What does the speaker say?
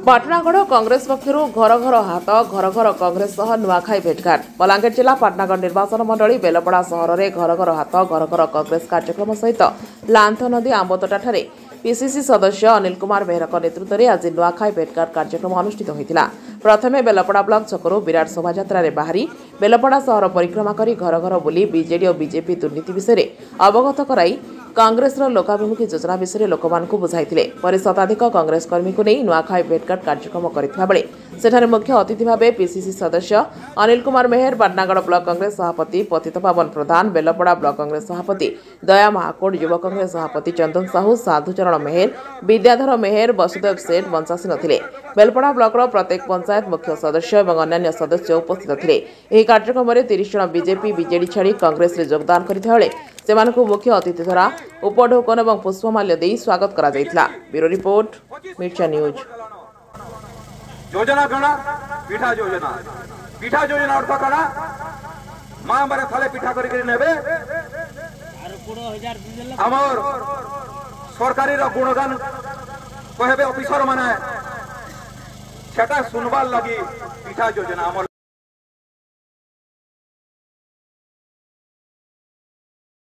ପାଟଣାଗଡ଼ କଂଗ୍ରେସ ପକ୍ଷରୁ ଘର ଘର ହାତ, ଘର ଘର କଂଗ୍ରେସ ସହ ନୂଆଖାଇ ଭେଟଘାଟ। ବଲାଙ୍ଗୀର ଜିଲ୍ଲା ପାଟଣାଗଡ଼ ନିର୍ବାଚନ ମଣ୍ଡଳୀ ବେଲପଡ଼ା ସହରରେ ଘର ଘର ହାତ, ଘର ଘର କଂଗ୍ରେସ କାର୍ଯ୍ୟକ୍ରମ ସହିତ ଲାନ୍ଥ ନଦୀ ଆମ୍ବତୋଟାଠାରେ ପିସିସି ସଦସ୍ୟ ଅନିଲ କୁମାର ବେହେରାଙ୍କ ନେତୃତ୍ୱରେ ଆଜି ନୂଆଖାଇ ଭେଟଘାଟ କାର୍ଯ୍ୟକ୍ରମ ଅନୁଷ୍ଠିତ ହୋଇଥିଲା। ପ୍ରଥମେ ବେଲପଡ଼ା ବ୍ଲକ ଛକରୁ ବିରାଟ ଶୋଭାଯାତ୍ରାରେ ବାହାରି ବେଲପଡ଼ା ସହର ପରିକ୍ରମା କରି ଘର ଘର ବୁଲି ବିଜେଡି ଓ ବିଜେପି ଦୁର୍ନୀତି ବିଷୟରେ ଅବଗତ କରାଇ କଂଗ୍ରେସର ଲୋକାଭିମୁଖୀ ଯୋଜନା ବିଷୟରେ ଲୋକମାନଙ୍କୁ ବୁଝାଇଥିଲେ। ପରେ ଶତାଧିକ କଂଗ୍ରେସ କର୍ମୀଙ୍କୁ ନେଇ ନୂଆଖାଇ ଭେଟଘାଟ କାର୍ଯ୍ୟକ୍ରମ କରିଥିବା ବେଳେ ସେଠାରେ ମୁଖ୍ୟ ଅତିଥି ଭାବେ ପିସିସି ସଦସ୍ୟ ଅନିଲ କୁମାର ମେହେର, ପାଟଣାଗଡ଼ ବ୍ଲକ କଂଗ୍ରେସ ସଭାପତି ପତିତପାବନ ପ୍ରଧାନ, ବେଲପଡ଼ା ବ୍ଲକ କଂଗ୍ରେସ ସଭାପତି ଦୟା ମହାକୁଡ଼, ଯୁବ କଂଗ୍ରେସ ସଭାପତି ଚନ୍ଦନ ସାହୁ, ସାଧୁଚରଣ ମେହେର, ବିଦ୍ୟାଧର ମେହେର, ବସୁଦେବ ସେଠ ମଞ୍ଚାସୀନ ଥିଲେ। ବେଲପଡ଼ା ବ୍ଲକର ପ୍ରତ୍ୟେକ ପଞ୍ଚାୟତ ମୁଖ୍ୟ ସଦସ୍ୟ ଏବଂ ଅନ୍ୟାନ୍ୟ ସଦସ୍ୟ ଉପସ୍ଥିତ ଥିଲେ। ଏହି କାର୍ଯ୍ୟକ୍ରମରେ 30 ଜଣ ବିଜେପି ବିଜେଡି ଛାଡ଼ି କଂଗ୍ରେସରେ ଯୋଗଦାନ କରିଥିବା ବେଳେ ସେମାନଙ୍କୁ ମୁଖ୍ୟ ଅତିଥି ଦ୍ୱାରା ଉପଢୌକନ ଏବଂ ପୁଷ୍ପମାଲ୍ୟ ଦେଇ ସ୍ୱାଗତ କରାଯାଇଥିଲା। ବ୍ୟୁରୋ ରିପୋର୍ଟ, ମିର୍ଚା ନ୍ୟୁଜ୍। ଯୋଜନା କାଣା? ପିଠା ଯୋଜନା। ପିଠା ଯୋଜନା ଅର୍ଥ କାଣା? ମା ମାନେ ଥାଲେ ପିଠା କରିକି ନେବେ, ଆମର ସରକାରୀର ଗୁଣଗାନ କହିବେ ଅଫିସର ମାନେ, ସେଟା ଶୁଣବାର ଲାଗି ପିଠା ଯୋଜନା ଆମର।